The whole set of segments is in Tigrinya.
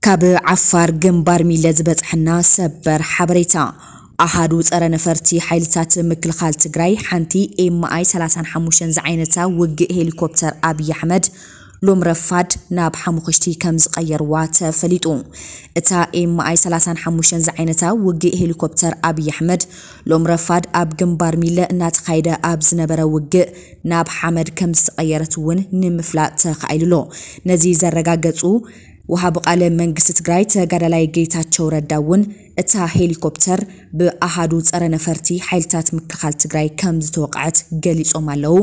ካብ ዓፋር ግንባር ሚለ ዝበጽሐና ሰበር ሓበሬታ። ኣሃዱ ጸረ ነፈርቲ ሓይልታት ምክልኻል ትግራይ ሓንቲ ኤምኣይ ሰላሳን ሓሙሽተን ዝዓይነታ ውግእ ሄሊኮፕተር ኣብይ ኣሕመድ ሎም ረፋድ ናብ ሓሙኽሽቲ ከም ዝቐየርዋ ተፈሊጡ። እታ ኤምኣይ ሰላሳን ሓሙሽተን ዝዓይነታ ውግእ ሄሊኮፕተር ኣብይ ኣሕመድ ሎም ረፋድ ኣብ ግንባር ሚለ እናተኻየደ ኣብ ዝነበረ ውግእ ናብ ሓመድ ከም ዝተቐየረት እውን ንምፍላጥ ተኻኢሉ ኣሎ። ነዚ ዘረጋገጹ ወሃቢ ቃለ መንግስቲ ትግራይ ተጋዳላይ ጌታቸው ረዳ እውን እታ ሄሊኮፕተር ብኣሃዱ ጸረ ነፈርቲ ሓይልታት ምክልኻል ትግራይ ከም ዝተወቕዐት ገሊጾም ኣለዉ።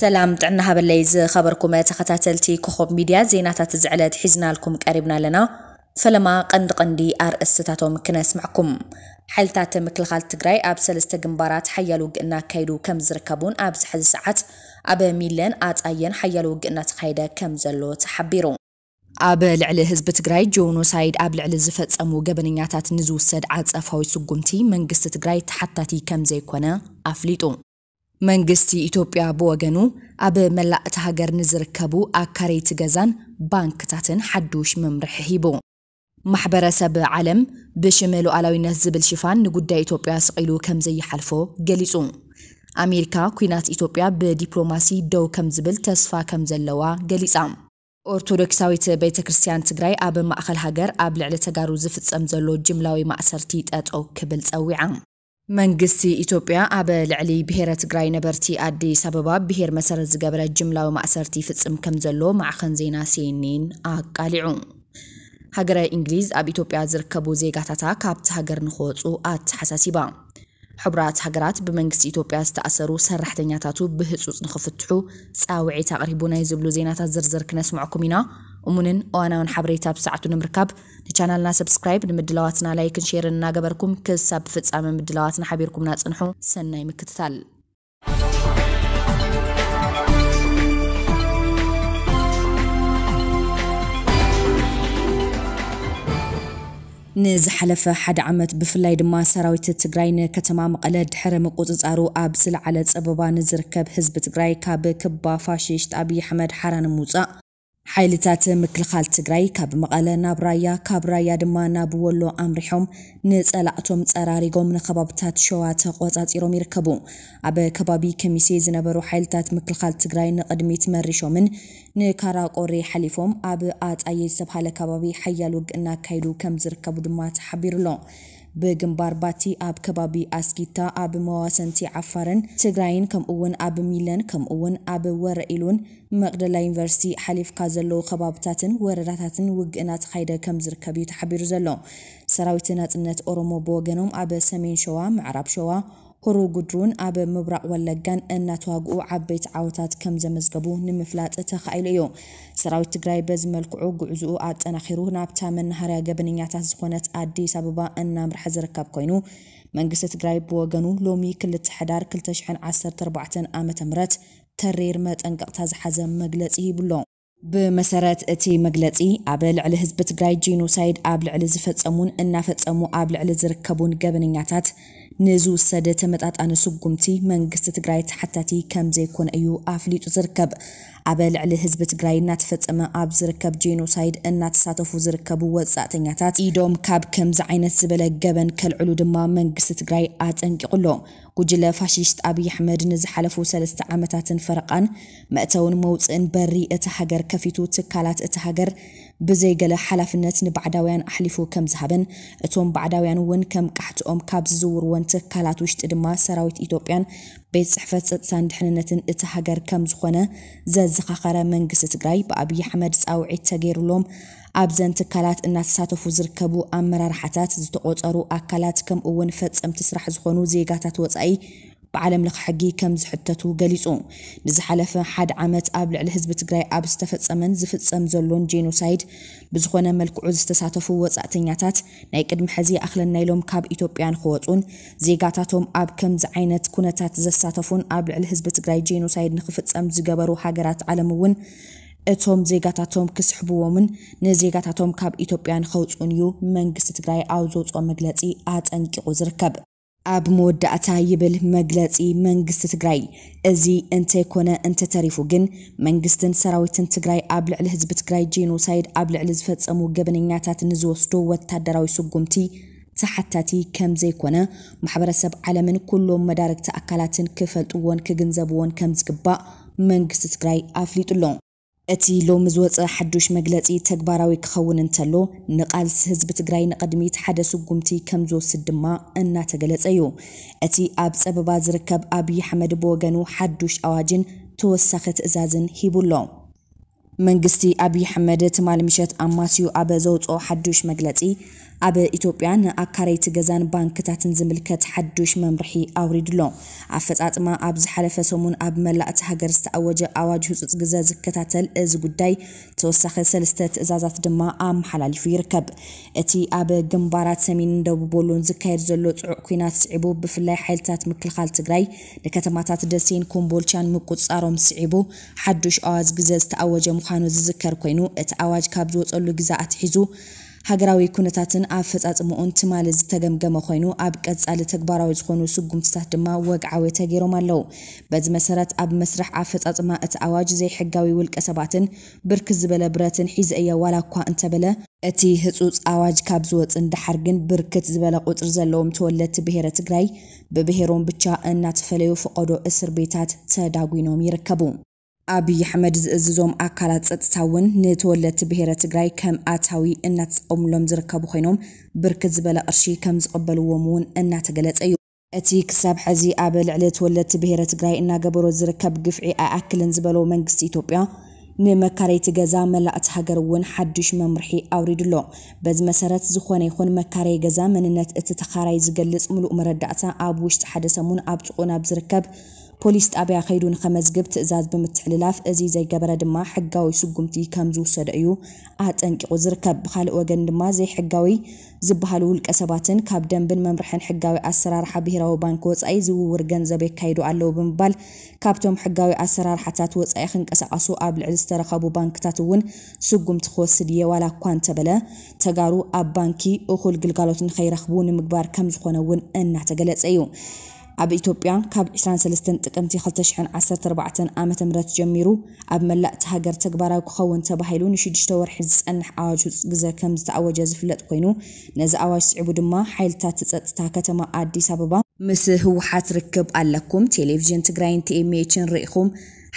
ሰላም ጥዕና ሃበለይ ዝኸበርኩም ተኸታተልቲ ኮኸብ ሚድያ፣ ዜናታት እዚ ዕለት ሒዝናልኩም ቀሪብና ኣለና። ፈለማ ቀንዲ ቀንዲ ኣርእስትታቶም ክነስምዕኩም። ሓይልታት ምክልኻል ትግራይ ኣብ ሰለስተ ግንባራት ሓያል ውግእ እናካየዱ ከም ዝርከቡን ኣብዚ ሕዚ ሰዓት ኣብ ሚለን ኣጻየን ሓያል ውግእ እናተኻየደ ከም ዘሎ ተሓቢሩ። ኣብ ልዕሊ ህዝቢ ትግራይ ጆኖሳይድ ኣብ ልዕሊ ዝፈጸሙ ገበነኛታት ንዝውሰድ ዓጸፋዊ ስጉምቲ መንግስቲ ትግራይ ተሓታቲ ከም ዘይኮነ ኣፍሊጡ። መንግስቲ ኢትዮጵያ ብወገኑ ኣብ መላእ እታ ሃገር ንዝርከቡ ኣካረይቲ ገዛን ባንክታትን ሓዱሽ መምርሒ ሂቡ። ማሕበረሰብ ዓለም ብሽም ሉዓላዊነት ዝብል ሽፋን ንጉዳይ ኢትዮጵያ ስቕ ኢሉ ከም ዘይሓልፎ ገሊጹ። ኣሜሪካ ኲናት ኢትዮጵያ ብዲፕሎማሲ ደው ከም ዝብል ተስፋ ከም ዘለዋ ገሊጻ። ኦርቶዶክሳዊት ቤተ ክርስቲያን ትግራይ ኣብ ማእኸል ሃገር ኣብ ልዕሊ ተጋሩ ዝፍጸም ዘሎ ጅምላዊ ማእሰርቲ ጠጠው ክብል ጸዊዓ። መንግስቲ ኢትዮጵያ ኣብ ልዕሊ ብሄረ ትግራይ ነበርቲ ኣዲስ ኣበባ ብሄር መሰረት ዝገበረ ጅምላዊ ማእሰርቲ ይፍጽም ከም ዘሎ ማዕኸን ዜና ሲኤንኤን ኣቃሊዑ። ሃገረ እንግሊዝ ኣብ ኢትዮጵያ ዝርከቡ ዜጋታታ ካብቲ ሃገር ንክወፁ ኣተሓሳሲባ። ሕቡራት ሃገራት ብመንግስቲ ኢትዮጵያ ዝተኣሰሩ ሰራሕተኛታቱ ብህፁፅ ንክፍትሑ ፃውዒት ኣቕሪቡ ናይ ዝብሉ ዜናታት ዝርዝር ክነስምዐኩም ኢና። እሙንን እዋናውን ሓበሬታ ብሰዓቱ ንምርካብ ንቻናልና ሰብስክራይብ፣ ንምድላዋትና ላይክን ሼርን እናገበርኩም ክሳብ ፍጻመ ምድላዋትና ሓቢርኩምና ጽንሑ። ሰናይ ምክትታል። ንዝሓለፈ ሓደ ዓመት ብፍላይ ድማ ሰራዊት ትግራይ ንከተማ መቐለ ድሕሪ ምቁፅፃሩ ኣብ ዝለዓለ ፀበባ ንዝርከብ ህዝቢ ትግራይ ካብ ክባ ፋሽስት ኣብይ ኣሕመድ ሓራ ንምውፃእ ሓይልታት ምክልኻል ትግራይ ካብ መቐለ ናብ ራያ፣ ካብ ራያ ድማ ናብ ወሎ ኣምሪሖም ንፀላእቶም ፀራሪጎም ንከባብታት ሸዋ ተቆፃፂሮም ይርከቡ። ኣብ ከባቢ ከሚሴ ዝነበሩ ሓይልታት ምክልኻል ትግራይ ንቕድሚት መሪሾምን ንካራ ቆሬ ሓሊፎም ኣብ ኣጣየ ዝተብሃለ ከባቢ ሓያል ውግእ እናካየዱ ከም ዝርከቡ ድማ ተሓቢሩ ኣሎ። ብግንባር ባቲ ኣብ ከባቢ ኣስጊታ ኣብ መዋሰንቲ ዓፋርን ትግራይን ከምኡ እውን ኣብ ሚለን ከምኡ እውን ኣብ ወረ ኢሉን መቕደላ ዩኒቨርሲቲ ሓሊፍካ ዘለዉ ከባብታትን ወረዳታትን ውግእ እናተኻየደ ከም ዝርከብ እዩ ተሓቢሩ ዘሎ። ሰራዊት ናጽነት ኦሮሞ ብወገኖም ኣብ ሰሜን ሸዋ፣ ምዕራብ ሸዋ፣ ሆሮ ጉድሩን ኣብ ምብራቕ ወለጋን እናተዋግኡ ዓበይቲ ዓወታት ከም ዘመዝገቡ ንምፍላጥ ተኻኢሉ እዩ። ሰራዊት ትግራይ በዚ መልክዑ ጉዕዝኡ ኣጠናኺሩ ናብታ መናሃርያ ገበነኛታት ዝኾነት ኣዲስ ኣበባ እናምርሐ ዝርከብ ኮይኑ፣ መንግስቲ ትግራይ ብወገኑ ሎሚ ክልተ ሕዳር ክልተ ሽሕን ዓሰርተ ኣርባዕተን ዓመተ ምህረት ተሪር መጠንቀቕታ ዝሓዘ መግለጺ ሂቡ ኣሎ። ብመሰረት እቲ መግለጺ፣ ኣብ ልዕሊ ህዝቢ ትግራይ ጄኖሳይድ ኣብ ልዕሊ ዝፈጸሙን እናፈጸሙ ኣብ ልዕሊ ዝርከቡን ገበነኛታት ንዝውሰድ ተመጣጣኒ ስጉምቲ መንግስቲ ትግራይ ተሓታቲ ከም ዘይኮነ እዩ ኣፍሊጡ ዝርከብ። ኣብ ልዕሊ ህዝቢ ትግራይ እናተፈጸመ ኣብ ዝርከብ ጄኖሳይድ እናተሳተፉ ዝርከቡ ወጻእተኛታት ኢዶም ካብ ከምዚ ዓይነት ዝበለ ገበን ከልዕሉ ድማ መንግስቲ ትግራይ ኣጠንቂቑ ኣሎ። ጉጅለ ፋሽስት ኣብይ ኣሕመድ ንዝሓለፉ ሰለስተ ዓመታትን ፈረቓን መእተውን መውፅእን በሪ እታ ሃገር ከፊቱ ትካላት እታ ሃገር ብዘይገለ ሓላፍነት ንባዕዳውያን ኣሕሊፉ ከም ዝሃበን እቶም ባዕዳውያን እውን ከም ቃሕትኦም ካብ ዝዝውርወን ትካላት ውሽጢ ድማ ሰራዊት ኢትዮጵያን ቤት ፅሕፈት ፀጥታን ድሕንነትን እታ ሃገር ከም ዝኾነ ዘዘኻኸረ መንግስቲ ትግራይ ብኣብይ ኣሕመድ ፃውዒት ተገይሩሎም ኣብዘን ትካላት እናተሳተፉ ዝርከቡ ኣመራርሓታት ዝተቆፀሩ ኣካላት ከምኡ እውን ፈፀምቲ ስራሕ ዝኾኑ ዜጋታት ወፃኢ ብዓለም ለኸ ሕጊ ከም ዝሕተቱ ገሊፁ። ንዝሓለፈ ሓደ ዓመት ኣብ ልዕሊ ህዝቢ ትግራይ ኣብ ዝተፈጸመን ዝፍጸም ዘሎን ጄኖሳይድ ብዝኾነ መልክዑ ዝተሳተፉ ወጻእተኛታት ናይ ቅድሚ ሕዚ ይኣኽለና ኢሎም ካብ ኢትዮጵያ ንኽወጹን ዜጋታቶም ኣብ ከምዚ ዓይነት ኩነታት ዘሳተፉን ኣብ ልዕሊ ህዝቢ ትግራይ ጄኖሳይድ ንክፍጸም ዝገበሩ ሃገራት ዓለም እውን እቶም ዜጋታቶም ክስሕብዎምን ንዜጋታቶም ካብ ኢትዮጵያ ንኸውፅኡን እዩ መንግስቲ ትግራይ ኣብ ዘውፅኦ መግለፂ ኣጠንቂቑ ዝርከብ። ኣብ መወዳእታ ይብል መግለፂ መንግስቲ ትግራይ፣ እዚ እንተይኮነ እንተተሪፉ ግን መንግስትን ሰራዊትን ትግራይ ኣብ ልዕሊ ህዝቢ ትግራይ ጄኖሳይድ ኣብ ልዕሊ ዝፈፀሙ ገበነኛታት ንዝወስዶ ወታደራዊ ስጉምቲ ተሓታቲ ከም ዘይኮነ ማሕበረሰብ ዓለምን ኩሎም መዳርግቲ ኣካላትን ክፈልጥዎን ክግንዘብዎን ከም ዝግባእ መንግስቲ ትግራይ ኣፍሊጡ ኣሎ። እቲ ሎሚ ዝወፀ ሓዱሽ መግለፂ ተግባራዊ ክኸውን እንተሎ፣ ንቃልሲ ህዝቢ ትግራይ ንቕድሚት ሓደ ስጉምቲ ከም ዝወስድ ድማ እናተገለፀ እዩ። እቲ ኣብ ፀበባ ዝርከብ ኣብይ ኣሕመድ ብወገኑ ሓዱሽ ኣዋጅን ተወሳኺ ትእዛዝን ሂቡ ኣሎ። መንግስቲ ኣብይ ኣሕመድ ትማሊ ምሸት ኣማስዩ ኣብ ዘውፅኦ ሓዱሽ መግለፂ፣ ኣብ ኢትዮጵያ ንኣካረይቲ ገዛን ባንክታትን ዝምልከት ሓዱሽ መምርሒ ኣውሪዱ ኣሎ። ኣፈፃፅማ ኣብ ዝሓለፈ ሰሙን ኣብ መላእ እቲ ሃገር ዝተኣወጀ ኣዋጅ ህፁፅ ግዘ ዝከታተል እዚ ጉዳይ ተወሳኺ ሰለስተ ትእዛዛት ድማ ኣመሓላሊፉ ይርከብ። እቲ ኣብ ግንባራት ሰሜንን ደቡብ ወሎን ዝካየድ ዘሎ ጽዑቕ ኲናት ስዒቡ፣ ብፍላይ ሓይልታት ምክልኻል ትግራይ ንከተማታት ደሴን ኮምቦልቻን ምቁጽጻሮም ስዒቡ፣ ሓዱሽ ኣዋጅ ግዘ ዝተኣወጀ ምዃኑ ዝዝከር ኮይኑ፣ እቲ ኣዋጅ ካብ ዝወጸሉ ግዘ ኣትሒዙ ሃገራዊ ኩነታትን ኣፈጻጽምኡን ትማሊ ዝተገምገመ ኮይኑ፣ ኣብ ቀጻሊ ተግባራዊ ዝኾኑ ስጉምትታት ድማ ወግዓዊ ተገይሮም ኣለዉ። በዚ መሰረት፣ ኣብ መስርሕ ኣፈጻጽማ እቲ ኣዋጅ ዘይሕጋዊ ውልቀ ሰባትን ብርክት ዝበለ ብረትን ሒዘ እየ ዋላ እኳ እንተበለ፣ እቲ ህጹጽ ኣዋጅ ካብ ዝወጽእ ንደሓር ግን ብርክት ዝበለ ቁጽሪ ዘለዎም ተወለድቲ ብሄረ ትግራይ ብብሄሮም ብቻ እናተፈለዩ ፈቐዶ እስር ቤታት ተዳጒኖም ይርከቡ። ኣብይ ኣሕመድ ዝእዝዞም ኣካላት ጸጥታ እውን ንተወለድቲ ብሄረ ትግራይ ከም ኣታዊ እናተጠቐሙሎም ዝርከቡ ኮይኖም፣ ብርክት ዝበለ ቅርሺ ከም ዝቕበልዎም እውን እናተገለጸ እዩ። እቲ ክሳብ ሕዚ ኣብ ልዕሊ ተወለድቲ ብሄረ ትግራይ እናገበሮ ዝርከብ ግፍዒ ኣይኣክልን ዝበሎ መንግስቲ ኢትዮጵያ፣ ንመካረይቲ ገዛ መላእ እቲ ሃገር እውን ሓዱሽ መምርሒ ኣውሪዱ ኣሎ። በዚ መሰረት፣ ዝኾነ ይኹን መካረይ ገዛ መንነት እቲ ተኻራይ ዝገልጽ ምሉእ መረዳእታ ኣብ ውሽጢ ሓደ ሰሙን ኣብ ጥቕኡ ናብ ዝርከብ ፖሊስ ጣብያ ከይዱ ንኸመዝግብ ትእዛዝ ብምትሕልላፍ፣ እዚ ዘይገበረ ድማ ሕጋዊ ስጉምቲ ከም ዝውሰዶ እዩ ኣጠንቂቑ ዝርከብ። ብኻልእ ወገን ድማ፣ ዘይሕጋዊ ዝበሃሉ ውልቀ ሰባትን ካብ ደንብን መምርሕን ሕጋዊ ኣሰራርሓ ብሄራዊ ባንክ ወጻኢ ዝውውር ገንዘብ የካይዱ ኣለዉ ብምባል፣ ካብቶም ሕጋዊ ኣሰራርሓታት ወጻኢ ክንቀሳቐሱ ኣብ ልዕሊ ዝተረኸቡ ባንክታት እውን ስጉምቲ ክወስድ እየ፣ ዋላ እኳ እንተበለ፣ ተጋሩ ኣብ ባንኪ እኹል ግልጋሎት ንኸይረኽቡ ንምግባር ከም ዝኾነ እውን እናተገለጸ እዩ። ኣብ ኢትዮጵያ፣ ካብ ዕስራን ሰለስተን ጥቅምቲ ክልተ ሽሕን ዓሰርተ ኣርባዕተን ዓመተ ምህረት ጀሚሩ፣ ኣብ መላእ እቲ ሃገር ተግባራዊ ክኸውን ተባሂሉ ንሽዱሽተ ወርሒ ዝጸንሕ ኣዋጅ ህጹጽ ግዘ ከም ዝተኣወጀ ዝፍለጥ ኮይኑ፣ ነዚ ኣዋጅ ስዒቡ ድማ ሓይልታት ጸጥታ ከተማ ኣዲስ ኣበባ፣ ምስ ህወሓት ርክብ ኣለኩም፣ ቴሌቪዥን ትግራይን ቲ ኤም ኤችን ርኢኹም፣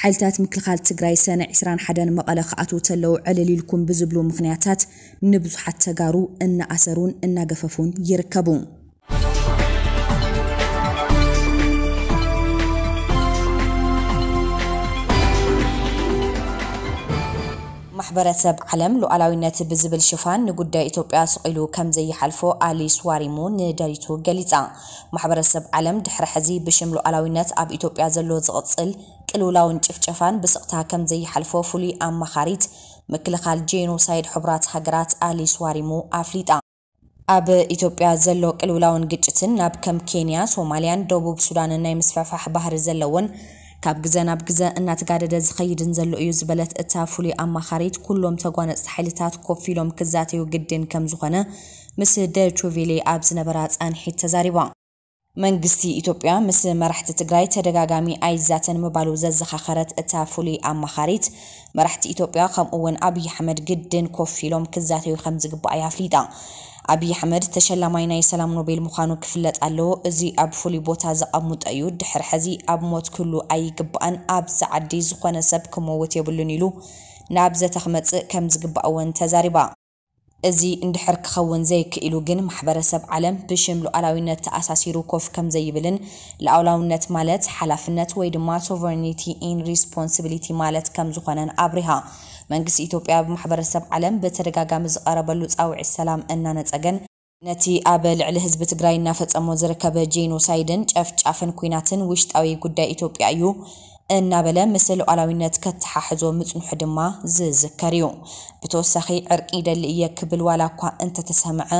ሓይልታት ምክልኻል ትግራይ ሰነ ዕስራን ሓደን መቐለ ክኣትዉ ተለዉ ዕልል ኢልኩም ብዝብሉ ምኽንያታት ንብዙሓት ተጋሩ እናኣሰሩን እናገፈፉን ይርከቡ። ማሕበረሰብ ዓለም ሉዓላዊነት ብዝብል ሽፋን ንጉዳይ ኢትዮጵያ ስቕ ኢሉ ከም ዘይሓልፎ ኣሊስ ዋሪሙ ንደሪቱ ገሊጻ። ማሕበረሰብ ዓለም ድሕሪ ሕዚ ብሽም ሉዓላዊነት ኣብ ኢትዮጵያ ዘሎ ዝቕጽል ቅልውላውን ጭፍጨፋን ብስቕታ ከም ዘይሓልፎ ፍሉይ ኣማኻሪት ምክልኻል ጄኖሳይድ ሕቡራት ሃገራት ኣሊስ ዋሪሙ ኣፍሊጣ። ኣብ ኢትዮጵያ ዘሎ ቅልውላውን ግጭትን ናብ ከም ኬንያ፣ ሶማልያን ደቡብ ሱዳንን ናይ ምስፍሕፋሕ ባህሪ ዘለዎን ካብ ግዘ ናብ ግዘ እናተጋደደ ዝኸይድን ዘሎ እዩ ዝበለት እታ ፍሉይ ኣማኻሪት፣ ኩሎም ተጓነፅቲ ሓይልታት ኮፍ ኢሎም ክዛተዩ ግድን ከም ዝኾነ ምስ ደቹ ቬሌ ኣብ ዝነበራ ፃንሒት ተዛሪባ። መንግስቲ ኢትዮጵያ ምስ መራሕቲ ትግራይ ተደጋጋሚ ኣይዛተን ምባሉ ዘዘኻኸረት እታ ፍሉይ ኣማኻሪት፣ መራሕቲ ኢትዮጵያ ከምኡ እውን ኣብይ ኣሕመድ ግድን ኮፍ ኢሎም ክዛተዩ ከም ዝግባእ እያ ኣፍሊጣ። ኣብይ ኣሕመድ ተሸላማይ ናይ ሰላም ኖቤል ምዃኑ ክፍለጥ ኣለዎ። እዚ ኣብ ፍሉይ ቦታ ዘቐምጦ እዩ። ድሕሪ ሕዚ ኣብ ሞት ክህሉ ኣይግባእን። ኣብዚ ዓዲ ዝኾነ ሰብ ክመውት የብሉን ኢሉ ናብ ዘተ ክመጽእ ከም ዝግባእ እውን ተዛሪባ። እዚ እንድሕር ክኸውን ዘይክኢሉ ግን ማሕበረሰብ ዓለም ብሽም ሉዓላዊነት ተኣሳሲሩ ኮፍ ከም ዘይብልን ሉዓላውነት ማለት ሓላፍነት ወይ ድማ sovereignty in responsibility ማለት ከም ዝኾነን ኣብሪሃ። መንግስቲ ኢትዮጵያ ብማሕበረሰብ ዓለም ብተደጋጋሚ ዝቐረበሉ ጻውዒት ሰላም እናነጸገን ነቲ ኣብ ልዕሊ ህዝቢ ትግራይ እናፈጸሞ ዝርከበ ጄኖሳይድን ጨፍጫፍን ኲናትን ውሽጣዊ ጉዳይ ኢትዮጵያ እዩ፣ እናበለ ምስ ሉዓላዊነት ከተሓሕዞ ምጽንሑ ድማ ዝዝከር እዩ። ብተወሳኺ ዕርቂ ይደሊ እየ ክብል ዋላ እኳ እንተተሰምዐ፣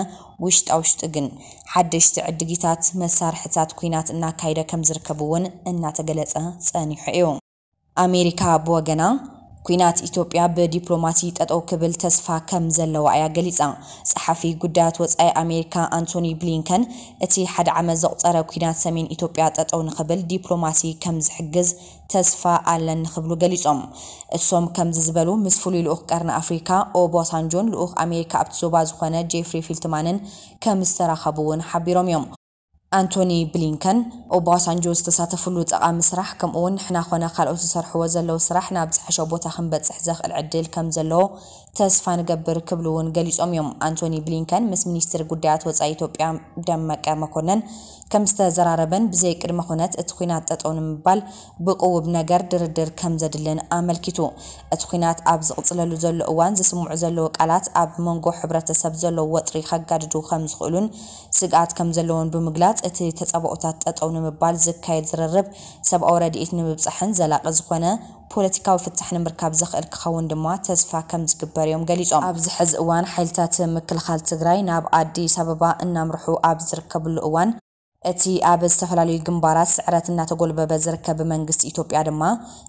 ውሽጣ ውሽጢ ግን ሓደሽቲ ዕድጊታት መሳርሕታት ኲናት እናካየደ ከም ዝርከብ እውን እናተገለጸ ጸኒሑ እዩ። ኣሜሪካ ብወገና፣ ኲናት ኢትዮጵያ ብዲፕሎማሲ ጠጠው ክብል ተስፋ ከም ዘለዋ እያ ገሊጻ። ጸሓፊ ጉዳያት ወጻኢ ኣሜሪካ ኣንቶኒ ብሊንከን፣ እቲ ሓደ ዓመት ዘቑጸረ ኲናት ሰሜን ኢትዮጵያ ጠጠው ንኽብል ዲፕሎማሲ ከም ዝሕግዝ ተስፋ ኣለኒ ክብሉ ገሊጾም። እሶም ከምዚ ዝበሉ ምስ ፍሉይ ልኡኽ ቀርኒ ኣፍሪካ ኦባሳንጆን ልኡኽ ኣሜሪካ ኣብቲ ዞባ ዝኾነ ጄፍሪ ፊልትማንን ከም ዝተራኸቡ እውን ሓቢሮም እዮም። ኣንቶኒ ብሊንከን፣ ኦባሳንጆ ዝተሳተፍሉ ጠቓሚ ስራሕ፣ ከምኡውን ንሕና ኾነ ካልኦት ዝሰርሕዎ ዘለዉ ስራሕ ናብ ዝሐሸ ቦታ ክንበጽሕ ዘኽእል ዕድል ከም ዘለዎ ተስፋ ንገብር ክብሉ እውን ገሊጾም እዮም። ኣንቶኒ ብሊንከን ምስ ሚኒስትር ጉዳያት ወጻኢ ኢትዮጵያ ደመቀ መኮነን ከም ዝተዘራረበን ብዘይ ቅድመ ኩነት እቲ ኲናት ጠጠው ንምባል ብቅውብ ነገር ድርድር ከም ዘድልን ኣመልኪቱ። እቲ ኲናት ኣብ ዝቕጽለሉ ዘሎ እዋን ዝስምዑ ዘለዉ ቃላት ኣብ መንጎ ሕብረተሰብ ዘለዉ ወጥሪ ከጋድዱ ከም ዝኽእሉን ስግኣት ከም ዘለዎን ብምግላጽ፣ እቲ ተጻብኦታት ጠጠው ንምባል ዝካየድ ዝርርብ ሰብኣዊ ረድኤት ንምብጻሕን ዘላቒ ዝኾነ ፖለቲካዊ ፍታሕ ንምርካብ ዘኽእል ክኸውን ድማ ተስፋ ከም ዝግበር እዮም ገሊጾም። ኣብዚ ሕዚ እዋን ሓይልታት ምክልኻል ትግራይ ናብ ኣዲስ ኣበባ እናምርሑ ኣብ ዝርከብሉ እዋን፣ እቲ ኣብ ዝተፈላለዩ ግንባራት ስዕረት እናተጎልበበ ዝርከብ መንግስቲ ኢትዮጵያ ድማ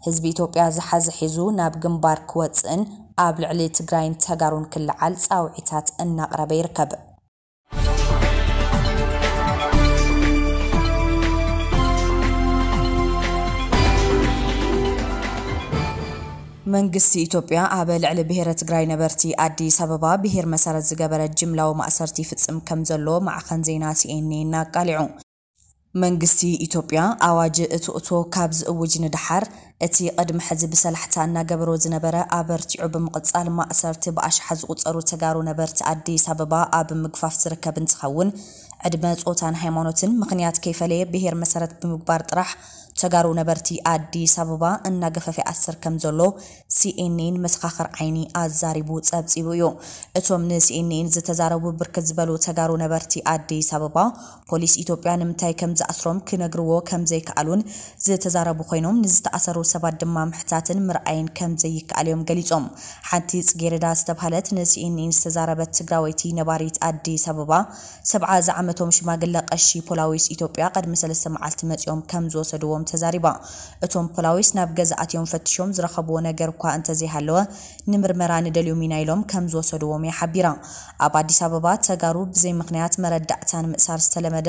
ህዝቢ ኢትዮጵያ ዝሓዘ ሒዙ ናብ ግንባር ክወፅእን ኣብ ልዕሊ ትግራይን ተጋሩን ክለዓል ፃውዒታት እናቕረበ ይርከብ። መንግስቲ ኢትዮጵያ ኣብ ልዕሊ ብሄረ ትግራይ ነበርቲ ኣዲስ ኣበባ ብሄር መሰረት ዝገበረ ጅምላዊ ማእሰርቲ ይፍጽም ከም ዘሎ ማዕኸን ዜና ሲኤንኤን ኣቃሊዑ። መንግስቲ ኢትዮጵያ ኣዋጅ እትእቶ ካብ ዝእውጅ ንደሓር፣ እቲ ቅድሚ ሕዚ ብሰላሕታ እናገበሮ ዝነበረ ኣበርቲዑ ብምቕጻል፣ ማእሰርቲ ብኣሽሓት ዝቑጸሩ ተጋሩ ነበርቲ ኣዲስ ኣበባ ኣብ ምግፋፍ ዝርከብ እንትኸውን፣ ዕድመ፣ ጾታን ሃይማኖትን ምኽንያት ከይፈለየ ብሄር መሰረት ብምግባር ጥራሕ ተጋሩ ነበርቲ ኣዲስ ኣበባ እናገፈፈ ይኣስር ከም ዘሎ ሲኤንኤን መሰኻኽር ዓይኒ ኣዛሪቡ ጸብጺቡ እዩ። እቶም ንሲኤንኤን ዝተዛረቡ ብርክት ዝበሉ ተጋሩ ነበርቲ ኣዲስ ኣበባ፣ ፖሊስ ኢትዮጵያ ንምንታይ ከም ዝኣስሮም ክነግርዎ ከም ዘይከኣሉን ዝተዛረቡ ኮይኖም፣ ንዝተኣሰሩ ሰባት ድማ ምሕታትን ምርኣይን ከም ዘይከኣል እዮም ገሊጾም። ሓንቲ ጽጌረዳ ዝተባህለት ንሲኤንኤን ዝተዛረበት ትግራወይቲ ነባሪት ኣዲስ ኣበባ፣ ሰብዓ ዝዓመቶም ሽማግለ ቀሺ ፖላዊስ ኢትዮጵያ ቅድሚ ሰለስተ መዓልቲ መጺኦም ከም ዝወሰድዎም ተዛሪባ። እቶም ፖላዊስ ናብ ገዛ ኣትዮም ፈቲሾም ዝረኸብዎ ነገር እኳ እንተዘይሃለወ፣ ንምርመራ ንደልዮም ኢና ኢሎም ከም ዝወሰድዎም እያ ሓቢራ። ኣብ ኣዲስ ኣበባ ተጋሩ ብዘይ ምኽንያት መረዳእታ ንምእሳር ዝተለመደ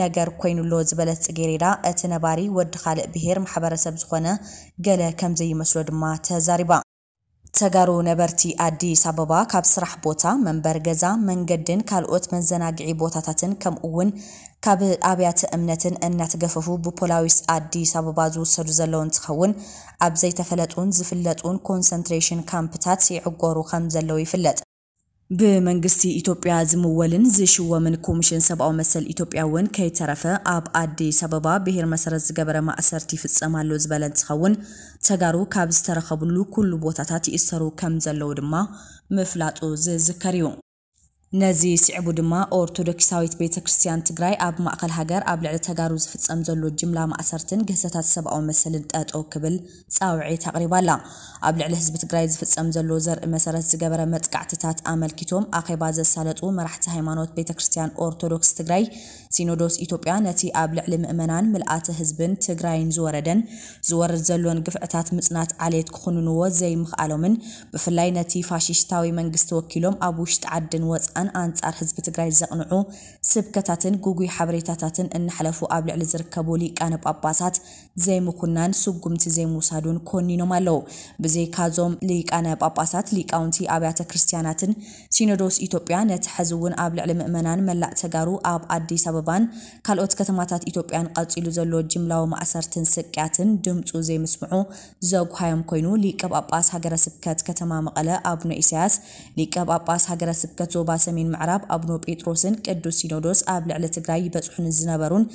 ነገር ኮይኑሎ ዝበለት ጽጌሬዳ፣ እቲ ነባሪ ወዲ ካልእ ብሄር ማሕበረሰብ ዝኾነ ገለ ከም ዘይመስሎ ድማ ተዛሪባ። ተጋሩ ነበርቲ ኣዲስ ኣበባ ካብ ስራሕ ቦታ፣ መንበሪ ገዛ፣ መንገድን ካልኦት መዘናግዒ ቦታታትን ከምኡ እውን ካብ ኣብያተ እምነትን እናተገፈፉ ብፖላዊስ ኣዲስ ኣበባ ዝውሰዱ ዘለዉ እንትኸውን፣ ኣብ ዘይተፈለጡን ዝፍለጡን ኮንሰንትሬሽን ካምፕታት ይዕጎሩ ከም ዘለዉ ይፍለጥ። ብመንግስቲ ኢትዮጵያ ዝምወልን ዝሽወምን ኮሚሽን ሰብኣዊ መሰል ኢትዮጵያ እውን ከይተረፈ ኣብ ኣዲስ ኣበባ ብሄር መሰረት ዝገበረ ማእሰርቲ ይፍጸም ኣሎ ዝበለ እንትኸውን፣ ተጋሩ ካብ ዝተረኸብሉ ኩሉ ቦታታት ይእሰሩ ከም ዘለዉ ድማ ምፍላጡ ዝዝከር እዩ። ነዚ ስዒቡ ድማ ኦርቶዶክሳዊት ቤተ ክርስቲያን ትግራይ ኣብ ማእኸል ሃገር ኣብ ልዕሊ ተጋሩ ዝፍጸም ዘሎ ጅምላ ማእሰርትን ግህሰታት ሰብኣዊ መሰልን ጠጠው ክብል ጻውዒት ኣቕሪባ ኣላ። ኣብ ልዕሊ ህዝቢ ትግራይ ዝፍጸም ዘሎ ዘርኢ መሰረት ዝገበረ መጥቃዕትታት ኣመልኪቶም ኣኼባ ዘሳለጡ መራሕቲ ሃይማኖት ቤተ ክርስቲያን ኦርቶዶክስ ትግራይ፣ ሲኖዶስ ኢትዮጵያ ነቲ ኣብ ልዕሊ ምእመናን፣ ምልኣተ ህዝብን ትግራይን ዝወረደን ዝወርድ ዘሎን ግፍዕታት ምጽናት ዓሌት ክኹንንዎ ዘይምኽኣሎምን፣ ብፍላይ ነቲ ፋሽስታዊ መንግስቲ ወኪሎም ኣብ ውሽጢ ዓድን ወጻእን ኣንጻር ህዝቢ ትግራይ ዘቕንዑ ስብከታትን ጉጉይ ሓበሬታታትን እናሕለፉ ኣብ ልዕሊ ዝርከቡ ሊቃነ ጳጳሳት ዘይምኹናን ስጉምቲ ዘይምውሳዱን ኮኒኖም ኣለዉ። ብዘይካዞም ሊቃነ ጳጳሳት፣ ሊቃውንቲ ኣብያተ ክርስቲያናትን ሲኖዶስ ኢትዮጵያ ነቲ ሕዚ እውን ኣብ ልዕሊ ምእመናን መላእ ተጋሩ ኣብ ኣዲስ ኣበባን ካልኦት ከተማታት ኢትዮጵያን ቀጺሉ ዘሎ ጅምላዊ ማእሰርትን ስቅያትን ድምፁ ዘይምስምዑ ዘጉሃዮም ኮይኑ፣ ሊቀ ጳጳስ ሃገረ ስብከት ከተማ መቐለ ኣቡነ ኢሳያስ፣ ሊቀ ጳጳስ ሃገረ ስብከት ዞባ ሰሜን ምዕራብ ኣቡነ ጴጥሮስን ቅዱስ ሲኖዶስ ኣብ ልዕሊ ትግራይ ይበፅሑ ንዝነበሩን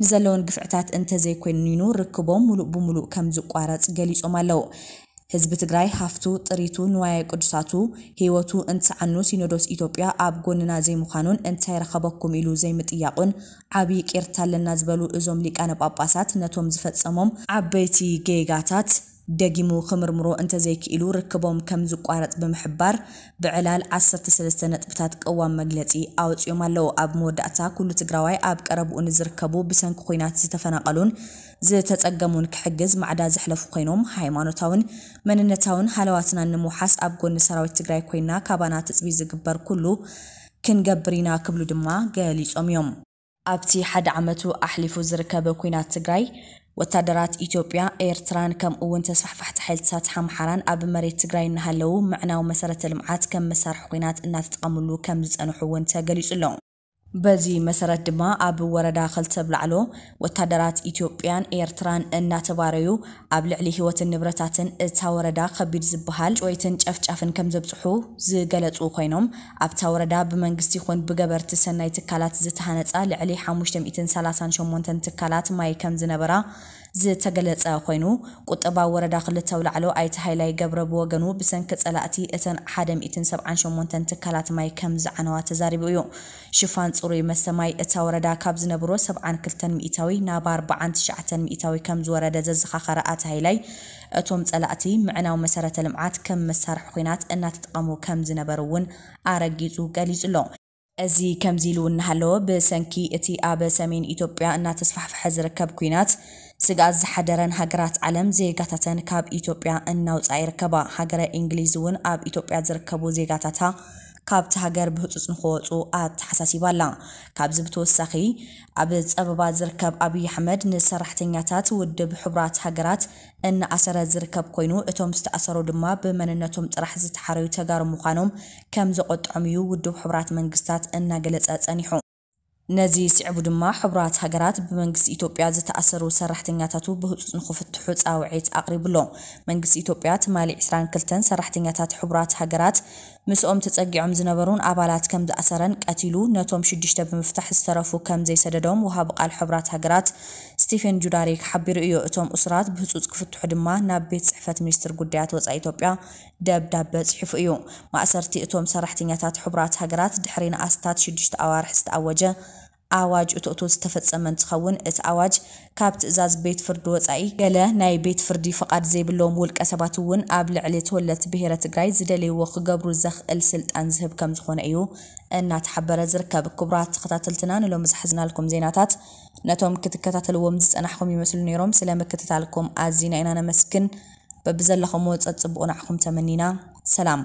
ንዘለውን ግፍዕታት እንተዘይኮይኑ ርክቦም ሙሉእ ብሙሉእ ከም ዝቋረፅ ገሊፆም ኣለዉ። ህዝቢ ትግራይ ሃፍቱ፣ ጥሪቱ፣ ንዋየ ቅዱሳቱ፣ ህይወቱ እንትሰዓኑ ሲኖዶስ ኢትዮጵያ ኣብ ጎንና ዘይምዃኑን እንታይ ረኸበኩም ኢሉ ዘይምጥያቑን ዓብዪ ቂርታ ኣለና ዝበሉ እዞም ሊቃነ ጳጳሳት ነቶም ዝፈጸሞም ዓበይቲ ጌጋታት ደጊሙ ክምርምሮ እንተዘይክኢሉ ርክቦም ከም ዝቋረጽ ብምሕባር ብዕላል ዓሰርተ ሰለስተ ነጥብታት ቅዋም መግለጺ ኣውጺኦም ኣለዉ። ኣብ መወዳእታ ኩሉ ትግራዋይ ኣብ ቀረብኡ ንዝርከቡ ብሰንኪ ኲናት ዝተፈናቐሉን ዝተጸገሙን ክሕግዝ ማዕዳ ዘሕለፉ ኮይኖም ሃይማኖታውን መንነታውን ሃለዋትናን ንምውሓስ ኣብ ጎኒ ሰራዊት ትግራይ ኮይና ካባና ትጽቢ ዝግበር ኩሉ ክንገብር ኢና ክብሉ ድማ ገሊጾም እዮም። ኣብቲ ሓደ ዓመቱ ኣሕሊፉ ዝርከብ ኲናት ትግራይ ወታደራት ኢትዮጵያ፣ ኤርትራን ከምኡ እውን ተስፋሕፋሕቲ ሓይልታት ሓምሓራን ኣብ መሬት ትግራይ እናሃለዉ ምዕናው መሰረተ ልምዓት ከም መሳርሒ ኲናት እናተጠቐምሉ ከም ዝጸንሑ እውን ተገሊጹ ኣሎ። በዚ መሰረት ድማ ኣብ ወረዳ ክልተ ብላዕሎ ወታደራት ኢትዮጵያን ኤርትራን እናተባረዩ ኣብ ልዕሊ ህይወትን ንብረታትን እታ ወረዳ ከቢድ ዝበሃል ጭወይትን ጨፍጫፍን ከም ዘብፅሑ ዝገለፁ ኮይኖም ኣብታ ወረዳ ብመንግስቲ ይኹን ብገበርቲ ሰናይ ትካላት ዝተሃነፃ ልዕሊ ሓሙሽተ ሚእትን ሰላሳን ሸሞንተን ትካላት ማይ ከም ዝነበራ ዝተገለጸ ኮይኑ ቁጠባ ወረዳ ክልተ ኣውላዕሎ ኣይተ ሃይላይ ገብረ ብወገኑ ብሰንኪ ጸላእቲ እተን ሓደ ሚእትን ሰብዓን ሸሞንተን ትካላት ማይ ከም ዝዓነዋ ተዛሪቡ እዩ። ሽፋን ጽሩይ መስተ ማይ እታ ወረዳ ካብ ዝነብሮ ሰብዓን ክልተን ሚእታዊ ናብ ኣርብዓን ትሽዓተን ሚእታዊ ከም ዝወረደ ዘዘኻኸረ ኣተ ሃይላይ እቶም ጸላእቲ ምዕናው መሰረተ ልምዓት ከም መሳርሒ ኹናት እናተጠቐሙ ከም ዝነበሩ እውን ኣረጊጹ ገሊጹ ኣሎ። እዚ ከምዚ ኢሉ እናሃለወ ብሰንኪ እቲ ኣብ ሰሜን ኢትዮጵያ እናተስፋሕፈሐ ዝርከብ ኲናት ስግኣት ዝሓደረን ሃገራት ዓለም ዜጋታተን ካብ ኢትዮጵያ እናውፅኣ ይርከባ። ሃገረ እንግሊዝ እውን ኣብ ኢትዮጵያ ዝርከቡ ዜጋታታ ካብቲ ሃገር ብህፁፅ ንክወፁ ኣተሓሳሲባ ኣላ። ካብዚ ብተወሳኺ ኣብ ፀበባ ዝርከብ ኣብይ ኣሕመድ ንሰራሕተኛታት ውድብ ሕቡራት ሃገራት እናኣሰረ ዝርከብ ኮይኑ እቶም ዝተኣሰሩ ድማ ብመንነቶም ጥራሕ ዝተሓረዩ ተጋሩ ምዃኖም ከም ዘቆጥዖም እዩ ውድብ ሕቡራት መንግስታት እናገለፀ ፀኒሑ። ነዚ ስዕቡ ድማ ሕቡራት ሃገራት ብመንግስቲ ኢትዮጵያ ዝተኣሰሩ ሰራሕተኛታቱ ብህፁፅ ንክፍትሑ ፃውዒት ኣቕሪቡ ኣሎ። መንግስቲ ኢትዮጵያ ትማሊ ዕስራን ክልተን ሰራሕተኛታት ሕቡራት ሃገራት ምስኦም ተፀጊዖም ዝነበሩን ኣባላት ከም ዝኣሰረን ቀቲሉ ነቶም ሽዱሽተ ብምፍታሕ ዝተረፉ ከም ዘይሰደዶም ወሃቢ ቃል ሕቡራት ሃገራት ስቲፈን ጁዳሪክ ሓቢሩ እዩ። እቶም እሱራት ብህፁፅ ክፍትሑ ድማ ናብ ቤት ፅሕፈት ሚኒስትር ጉዳያት ወፃኢ ኢትዮጵያ ደብዳበ ፅሒፉ እዩ። ማእሰርቲ እቶም ሰራሕተኛታት ሕቡራት ሃገራት ድሕሪ ንኣስታት ሽዱሽተ ኣዋርሕ ዝተኣወጀ ኣዋጅ እቶእቶ ዝተፈጸመ እንትኸውን እቲ ኣዋጅ ካብ ትእዛዝ ቤት ፍርዲ ወፃኢ ገለ ናይ ቤት ፍርዲ ፍቓድ ዘይብሎም ውልቀ ሰባት እውን ኣብ ልዕሊ ተወለድቲ ብሄረ ትግራይ ዝደለይዎ ክገብሩ ዘኽእል ስልጣን ዝህብ ከም ዝኾነ እዩ እናተሓበረ ዝርከብ። ክቡራት ተኸታተልትና ንሎሚ ዝሓዝናልኩም ዜናታት ነቶም ክትከታተልዎም ዝጸናሕኩም ይመስሉ ነይሮም። ስለ ምክትታልኩም ኣዚና ኢና ነመስግን። በብዘለኹምዎ ጸጽቡቑ ንዓኹም ተመኒና። ሰላም።